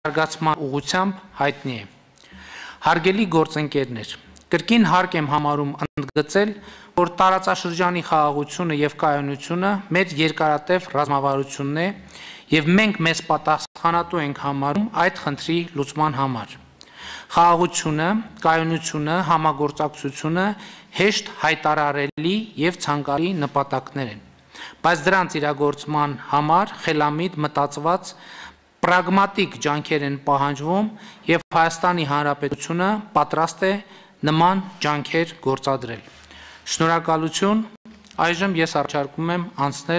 զարգացման ուղղությամբ հայտնի է։ Հարգելի գործընկերներ, կրկին հարկ եմ համարում ընդգծել, որ տարածաշրջանի խաղաղությունը եւ կայունությունը մեր երկարատև ռազմավարությունն է եւ մենք մեզ պատասխանատու ենք համարում այդ խնդրի լուծման համար։ Խաղաղությունը, կայունությունը, համագործակցությունը հեշտ հայտարարելի եւ ցանկալի նպատակներ են, բայց դրանց իրագործման համար խելամիտ մտածված պրագմատիկ ջանքեր են պահանջվում եւ Հայաստանի Հանրապետությունը պատրաստ է նման ջանքեր գործադրել։ Շնորհակալություն, այժմ ես առաջարկում եմ անցնել